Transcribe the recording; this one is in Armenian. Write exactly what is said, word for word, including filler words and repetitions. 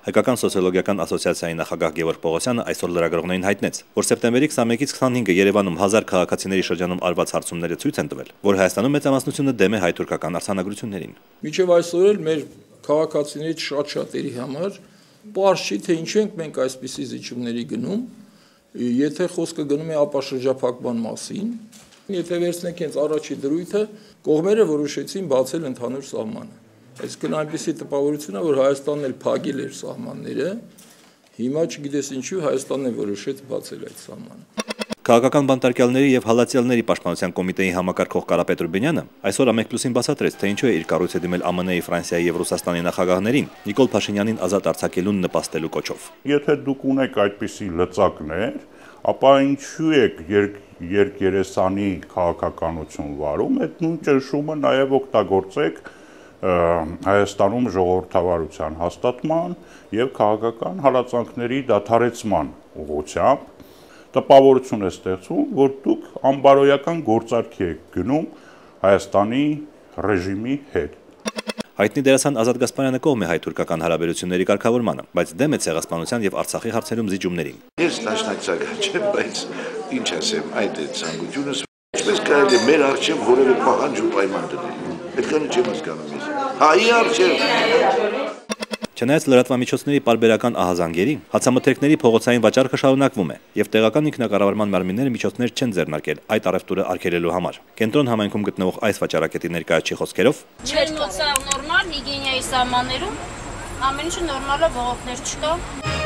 Հայկական սոցիոլոգիական ասոցիացիայի նախագահ Գևորգ Պողոսյանը այսօր լրագրողներին հայտնեց, որ սեպտեմբերի քսաներկից քսանհինգը Երևանում հազար քաղաքացիների շրջանում արված հարցումները ցույց են տվել, որ Հայաստանում մեծամասնությունը դեմ է հայ-թուրքական արձանագրություններին։ Մինչև այսօր էլ մեր քաղաքացիներից շատ-շատերի համար պարզ չի, թե ինչ ենք մենք այսպիսի զիջումների գնում, եթե խոսքը գնում է ապաշրջափակման մասին, եթե վերցնենք հենց առաջի դրույթը, կողմերը որոշեցին բացել ընդհանուր սահմանը։ Այսինքն այնպիսի տպավորություն է, որ Հայաստանն էլ փակել էր սահմանները, հիմա չգիտես ինչու Հայաստանն է որոշեց բացել այդ սահմանը։ Քաղաքական բանտարկյալների եւ հալածյալների պաշտպանության կոմիտեի համակարգող Կարապետ Ռուբինյանը այսօր Ամենպլյուսին բացատրեց, թե ինչու է իր կառույցը դիմել Ամն Ի, Ֆրանսիայի եւ Ռուսաստանի նախագահներին Նիկոլ Փաշինյանին ազատ արձակելուն նպաստելու կոչով։ Եթե դուք ունեք այդպիսի լծակներ, ապա ինչու եք երկերեսանի քաղաքականություն վարում, այդ նույն ճնշումը նաեւ օգտագործեք Հայաստանում ժողովրդավարության հաստատման եւ քաղաքական հալածանքների դադարեցման ուղղությամբ տպավորություն է ստեղծում, որ դուք անբարոյական գործարքի եք գնում Հայաստանի ռեժիմի հետ։ Հայտնի դերասան Ազատ Գասպարյանը կողմ է հայ-թուրքական հարաբերությունների կարգավորմանը, բայց դեմ է ցեղասպանության եւ Արցախի հարցերում զիջումներին։ Ես դաշնակցական չեմ, բայց ինչ ասեմ, այդ է ցանկությունս։ Ինչպես կարելի է մեր արժեվ որևէ պահանջ ու պայման դնել։ Այդքանը չեմ հասկանում ես։ Հայի արժեվ։ Չնայած լրատվամիջոցների պարբերական ահազանգերի, հացամթերքների փողոցային վաճառքը շարունակվում է եւ տեղական ինքնակառավարման մարմինները միջոցներ չեն ձեռնարկել այդ առևտուրը արգելելու համար։ Կենտրոն համայնքում գտնվող այս վաճառակետի ներկայացի խոսքերով Չէ, նորմալ հիգիենայի սահմաններում ամեն ինչը նորմալ է, բողոքներ չկա։